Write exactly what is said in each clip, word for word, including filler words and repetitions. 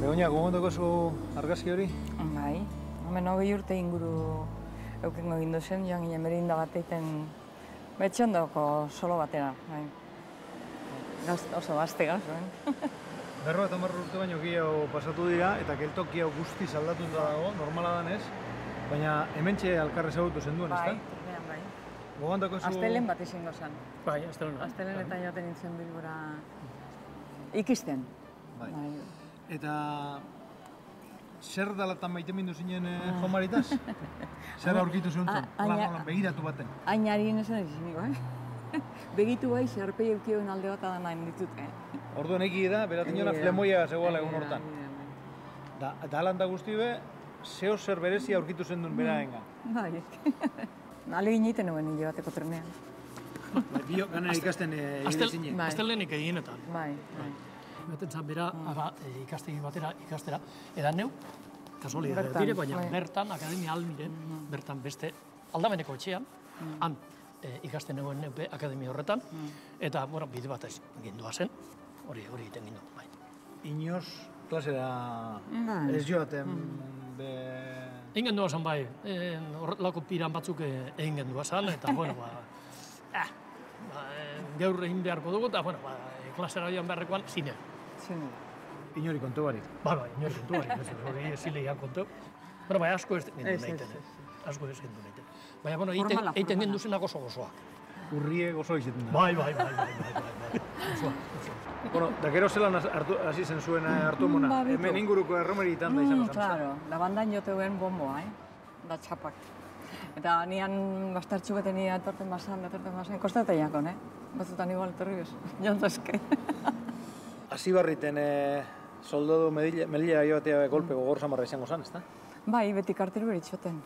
Begoña, gogondoko zu argazki hori? Bai, hemen hogei urte inguru eukengo gindu zen, joan ginen merinda bat egiten betxondoko solo batera. Oso gazte gazuen. Berro eta marro urte baino gehiago pasatu dira eta geltoki hau guztiz aldatuta dago, normala danez, baina hementxe alkarre ezagutu zenduen, ezta? Bai, turnean bai. Gogondoko zu... Astelen bat izango zen. Bai, astelen. Astelen eta joaten nintzen Bilbora ikisten. Bai. Eta zer dalatan maite mindu zinen jomaritaz? Zer aurkitu zehuntzen? Begiratu baten? Ainari nesan izin, bai? Begitu bai, zerpei eukioen alde bat adan nahi ditut. Orduan egi da, beratinona flemoia zegoela egun hortan. Da alanda guzti be, zeo zer berezia aurkitu zen duen beraenga. Bai, alegin egiten nuen hile bateko trenean. Bio, gana ikasten egin zinen. Astelenik eginetan. Bai, bai. Beten zan bera, ikastegi batera ikastera. Edan neu, kasualia dire, baina bertan, Akademia Almiren, bertan beste aldameneko etxean, han ikasten neuen neupe Akademia horretan, eta, bueno, bide bat gindua zen, hori hori egiten gindu, bai. Inoz, klasera ez joaten, be... Egin gendua zen, bai, horrelako piran batzuk egin gendua zen, eta, bueno, ba, gaur egin beharko dugu, eta, bueno, klasera joan beharrekoan, zine. Zine. Inori kontu barik. Ba, ba, inori kontu barik, hori zileian kontu. Bueno, bai, asko ez gendu nahiten, asko ez gendu nahiten. Baina, bueno, eiten gendu zenak oso gozoak. Urrie gozo izaten da. Bai, bai, bai, bai, bai, gozoak, gozoak. Bueno, da gero zelan hasi zen zuen hartu mona, hemen inguruko erromeritan da izango zen. Claro, da bandan joteuen bomboa, da txapak. Eta nian bastartxu bete nire atorten basan, atorten basan, kostata jakon, eh? Batzutan igual etorri bez, jontazke. Hasi barriten soldadu melilla joatea golpe gogor samarra izango zen, ezta? Bai, beti karteru beritxoten.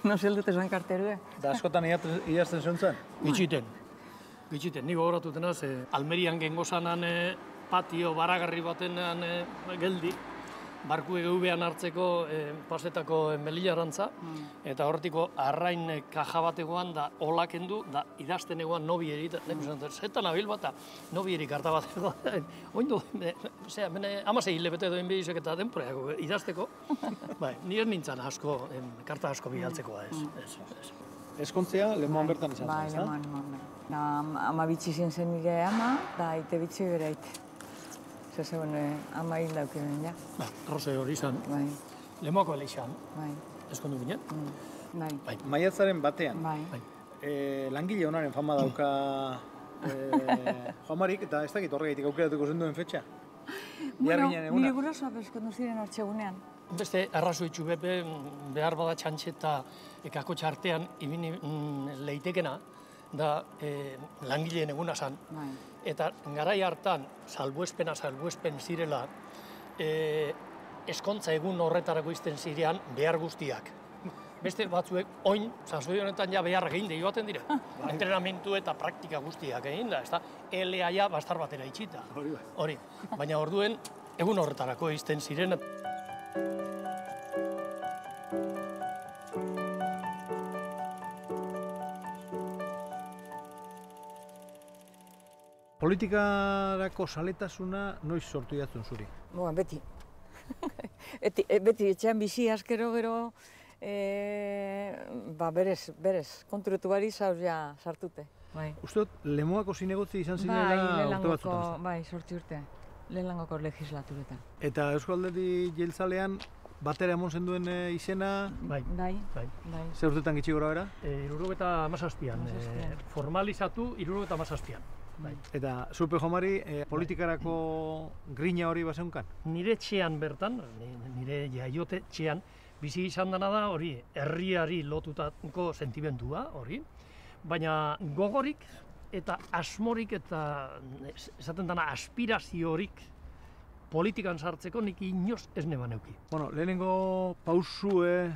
No zeldut esan karterue. Da askotan idazten zuntzen? Gitxiten. Gitxiten, ni gogoratu denaz, Almerian gengo zanan patio baragarri batenan geldi, barku egeubean hartzeko pasetako melillarantza, eta horretiko arrain kaja bategoan da olak endu, da idazten egoan nobi erit, zetan abil bat, nobi erik harta bat egoan, oindu, zera, amasei hilebete doin behizek eta denporeako idazteko, bai, nire nintzen asko, karta asko bihaltzekoa ez. Eskontzea, lemoan bertan izan zen, bai, ezta? Bai, lemoan, bai. Ama bitxi zen zen nire ama, da ite bitxi bere aite. Zer zegoen ama hil daukinen, ja. Ba, arroze hori izan. Bai. Lemoako ele izan. Bai. Eskondu ginen. Bai. Maiatzaren batean. Bai. Langile honaren fama dauka Joamarik, eta ez dakit horregaitik aukeratuko zenduen fetxa. Bueno, nire gurasoa peskondu ziren hartxegunean. Beste arrazoitxu bepe, behar bada txantxe eta kako txartean ibini leitekena, da langileen eguna zan. Eta garai hartan, salbuespena salbuespen zirela, eskontza egun horretarako izten zirean behar guztiak. Beste batzuek, oin, sasoi honetan ja beharrak egin da joaten dira. Entrenamentu eta praktika guztiak egin da, ez da, elea ja bastar batera itxita. Hori, baina orduen, egun horretarako izten ziren. Politikarako saletasuna noiz sortu jatzen zuri? Boa, beti. Beti etxean bizi askero gero, ba berez, berez, konturetu bari zauz ja sartute. Uste dut, Lemoako zinegotzi izan zinela urte batzutan? Bai, sortzi urte, lehenlangoko legislaturetan. Eta Eusko Alderdi Jeltzalean batera emon zenduen izena? Bai. Bai. Zer urtetan gitxi gora bera? Irurogeta amazazpian, formalizatu irurogeta amazazpian. Eta Zupe Jomari politikarako grina hori bazeunkan? Nire txean bertan, nire jaiote txean, bizi izan dena da hori herriari lotutako sentimendua hori, baina gogorik eta asmorik eta esaten dena aspiraziorik politikan sartzeko nik inoz ez neban euki. Bueno, lehenengo pausue,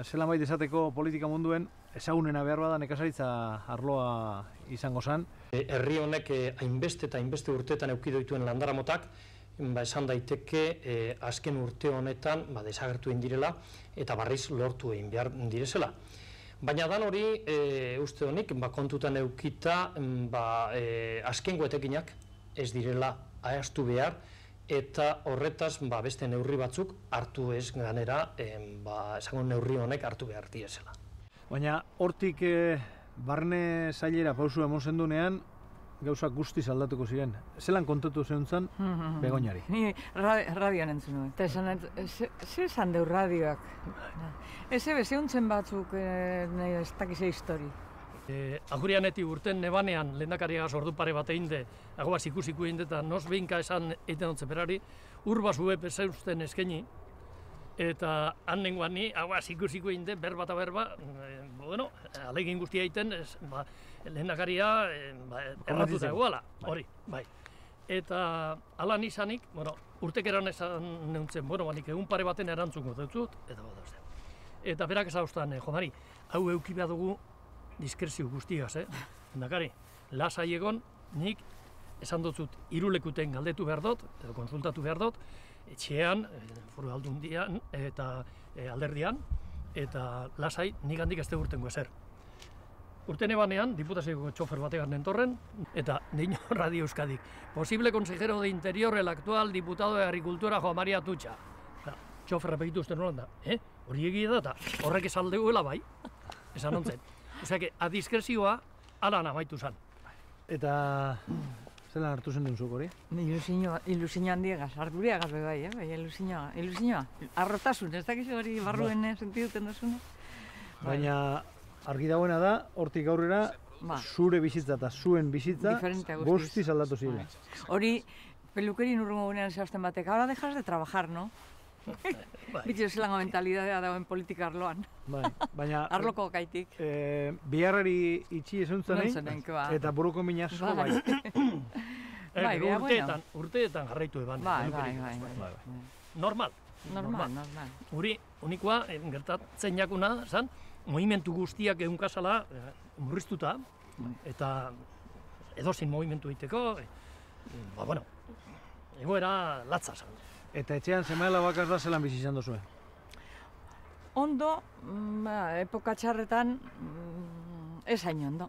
zelan baita esateko politika munduen, ezagunena behar bada nekazaritza arloa izango zen. Herri honek hainbeste eta hainbeste urteetan euki doituen landaramotak, esan daiteke azken urte honetan desagertu egin direla eta barriz lortu egin behar direzela. Baina dan hori, uste honik, kontutan eukita azkengo etekinak ez direla ahaztu behar eta horretaz ba, beste neurri batzuk hartu ez ganera, em, ba, esango neurri honek hartu behar diezela. Baina hortik eh, barne zailera pausu emon zendunean, gauzak guztiz aldatuko ziren. Zelan kontatu zeuntzan Begoñari? Ni radioan entzun nuen. Eta esan, ze esan deu radioak? Eze bezeuntzen batzuk, ez dakize histori. E, Agurianetik urten nebanean lehendakariagaz ordu pare bat egin de, agoaz ikusiko egin de, eta nos behinka esan egiten ontzen berari, urba zue peseusten eskaini, eta han nengoan ni, agoaz ikusiko egin de, berba eta berba, e, bueno, alegin guztia egiten, ez, ba, lehendakaria e, ba, erratuta egoala, hori, bai. Eta alan izanik, bueno, urtekeran esan neuntzen, bueno, banik egun pare baten erantzungo dut, eta bat da. Eta berak ezauztan, eh, jodari, hau euki behar dugu diskrezio guztigaz, eh? Lehendakari, lasai egon, nik esan dutzut irulekuten galdetu behar dut, edo konsultatu behar dut, etxean, foru aldundian eta e, alderdian, eta lasai nik handik ez urtengo ezer. Urten ebanean, diputazioko txofer bategan nentorren, eta Deino Radio Euskadik. Posible consejero de Interior, el actual diputado de Agricultura, Joan Maria Atutxa. Txoferra begitu usten horan da, eh? Hori egia da, eta horrek esaldeguela bai, esan ontzen. Osea, que, adiskrezioa alan amaitu zen. Eta zelan hartu zen duen zuk hori? Ilusio, ilusio handiegaz, arduriagaz be bai, eh? Bai, ilusioa, ilusioa. Arrotasun, ez dakizu hori barruen sentiduten duzuna? Baina argi dagoena da, hortik aurrera, ba. Zure bizitza eta zuen bizitza guztiz aldatu ziren. Hori, pelukerin urrungo gunean zehazten batek, ahora dejas de trabajar, no? Bitxo zelango mentalidadea dagoen politika arloan. Bai, baina... Arloko gaitik. E, biharrari itxi esuntzen eta buruko minasko bai. Bai, urteetan, urteetan jarraitu eban. Bai, bai, bai. Normal. Normal, normal. Uri, unikoa, gertatzen jakuna, zan, movimentu guztiak egunkazala murriztuta, eta edozin movimentu egiteko, ba, bueno, egoera latza zan. Eta etxean seme-alaba bakar da zelan bizi izan duzue? Ondo, ba, epoka txarretan, ez hain ondo.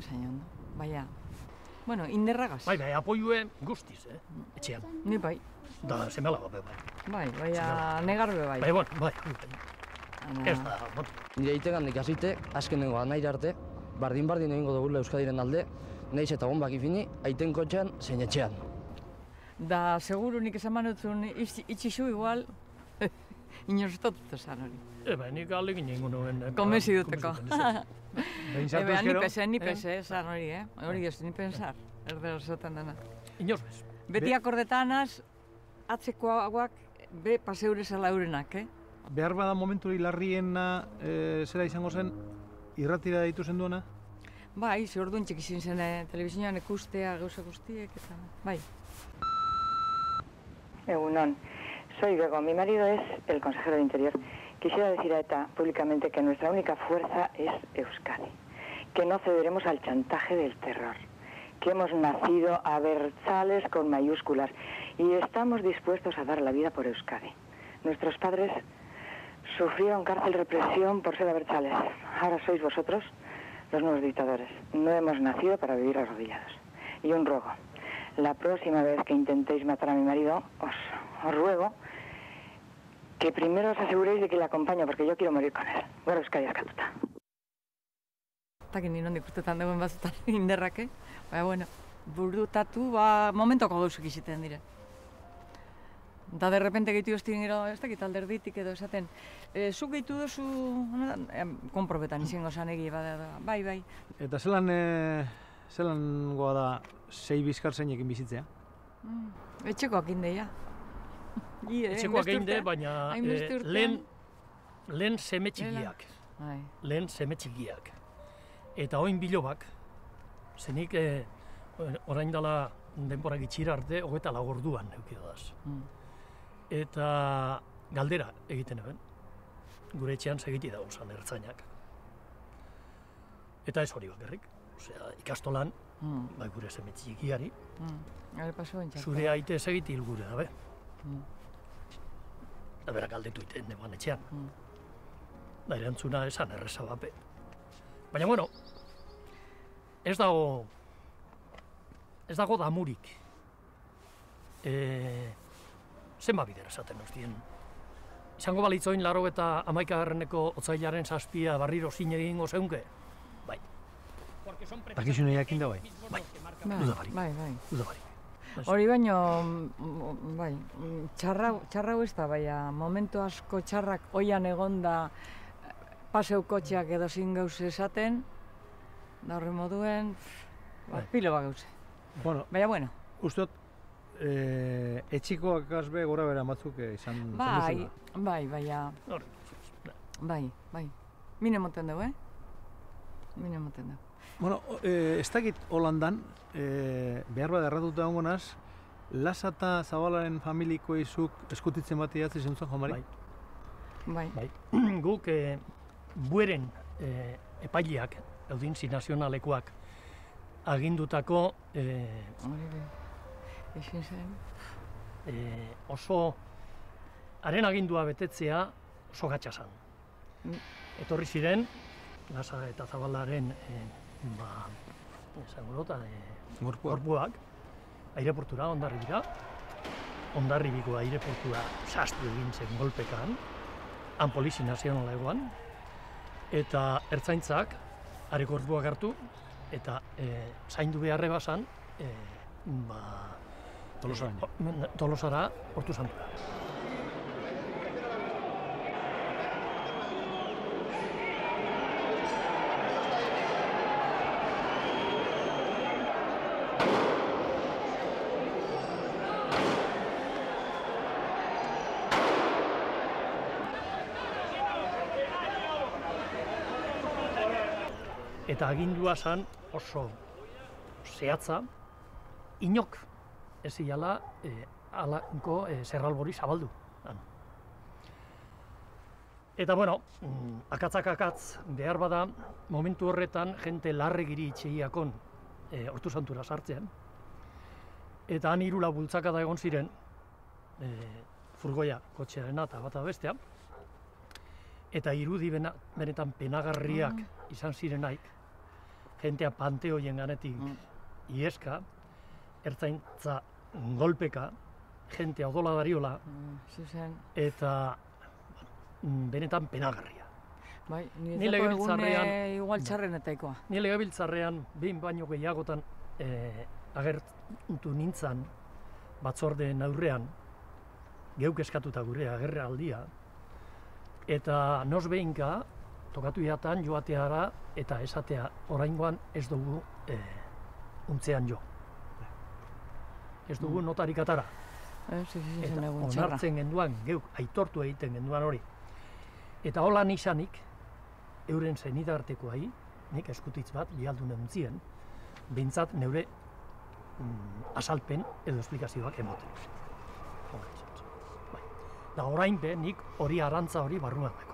Ez hain ondo, baina, bueno, inderragaz. Bai, bai, apoiue guztiz, eh, etxean. Ni bai. Da, seme-alaba be, bai. Bai, baina negarbe bai. Bai, bon, bai. Ez da, bon. Nire itegandik hasite, azkenengo anair arte, bardin-bardin egingo dugula Euskadiren alde, nahiz eta bombak ipini, aiten kotxean, zein etxean. Da, seguru nik esan manutzun, itxizu igual, inortotut esan hori. Eba, nik alegin egingo nuen. Konbezi duteko. Eba, ni pese, ni Eh? pese, esan hori, eh? Hori ez, ni pensar, erdero zotan dena. Inoz bez. Beti akordetanaz, atzekoagoak, be paseure zela eurenak, eh? Behar bada momentu larriena e, zera izango zen, irratira ditu zen duena? Bai, ze orduan txekizin zen eh, telebizioan ikustea gauza guztiek, eta bai. Egunon, soy Bego, mi marido es el consejero de Interior. Quisiera decir a ETA públicamente que nuestra única fuerza es Euskadi, que no cederemos al chantaje del terror, que hemos nacido abertzales con mayúsculas y estamos dispuestos a dar la vida por Euskadi. Nuestros padres sufrieron cárcel represión por ser abertzales. Ahora sois vosotros los nuevos dictadores. No hemos nacido para vivir arrodillados. Y un ruego. La próxima vez que intentéis matar a mi marido, os, os ruego que primero os aseguréis de que le acompaño, porque yo quiero morir con él. Gora Euskadi askatuta. Takin nire hondik urtetan dagoen batzutan inderrake, baina, bueno, burutatu, ba, momentoko gauzuk iziten dire. Da, derrepente gehitu eztin gero, ez dakit alderditik edo esaten, e, zuk gehitu duzu, e, konprobetan izango zan egi, bada, bai, bai. Eta zelan, e, zelan goa da sei bizkar zeinekin bizitzea? Mm, etxekoak indeia. Etxekoak inde, baina e, lehen, lehen seme txikiak. Bai. Lehen seme txikiak. Eta oin bilobak, zenik e, orain dela denbora gitxira arte, hogeita lagorduan eukidodaz. Mm. Eta galdera egiten eben, gure etxean segiti dago zan ertzainak. Eta ez hori bakarrik, osea, ikastolan, mm. bai gure seme txikiari, mm. zure aite segiti hilgure dabe. Mm. Da berak galdetu iten neban etxean. Mm. Da erantzuna esan erreza bape. Baina, bueno, ez dago, ez dago damurik. e, zenba bider esaten ustien. Izango balitzoin laro eta hamaikagarreneko otsailaren zazpia barriro zine egingo zeunke? Bai. Dakizune jakin da bai? Bai, Bai, dudabarik. bai, bai. Dudabarik. Hori baino, mm, bai, mm, txarra, txarra ez da, baina momentu asko txarrak oian egonda paseu kotxeak edo zin gauze esaten, da horri moduen, ba, Bai. pilo bat gauze. Bueno, Baina, bueno, uste dut, eh, etxikoak azbe gora bera batzuk eh, izan izan bai, duzula. bai, baina, Hori, bai, bai. Mine moten dugu, eh? Mine moten dugu. Bueno, eh, ez dakit Holandan, eh, behar bat erratuta egongo naz, Lasa eta Zabalaren familiko izuk eskutitzen bat idatzi zentzuen, Jomari? Bai. Bai, Bai. Guk e, bueren e, epaileak, audinzi nazionalekoak, agindutako e, hori bai. Ezin zen. e, oso, haren agindua betetzea oso gatsa zen. Mm. Etorri ziren, Lasa eta Zabalaren e, ba, esango dut, e, Gorpua. gorpuak, aireportura, Hondarribira, Hondarribiko aireportura sastu egin zen golpekan, han polizi nazionala egoan, eta ertzaintzak are gorpuak hartu, eta e, zaindu beharre basan, e, ba, Tolosara. e, Tolosara Hortu Santura. Eta agindua zen oso zehatza, inok ez ziala e, alako e, zerralbori zabaldu. Han. Eta bueno, mm, akatzak akatz behar bada, momentu horretan jente larregiri itxegiakon e, Hortu Santura sartzean. Eta han hirula bultzakada egon ziren, e, furgoia kotxearena eta bata bestea. Eta irudi bena, benetan penagarriak izan zirenaik, jentea panteoien ganetik Mm. ieska, ertzaintza golpeka, jentea odola dariola, Mm, zuzen. eta mm, benetan penagarria. Bai, Ni ni legebiltzarrean- egune igual txarrenetaikoa. Ni legebiltzarrean behin baino gehiagotan eh, agertu nintzan batzordeen aurrean, geuk eskatuta gure agerraldia, eta nos behinka tokatu jatan joateara eta esatea oraingoan ez dugu eh, untzean jo. Ez dugu notarik atara. Ez, ez, ez, Eta egun txarra. onartzen genduan, geuk aitortu egiten genduan hori. Eta holan izanik, euren zenidartekoai, nik eskutitz bat bialdun entzien, behintzat neure mm, azalpen edo esplikazioak emoten. Hola izan zen. Bai. Da orain be, nik hori arantza hori barruan dago.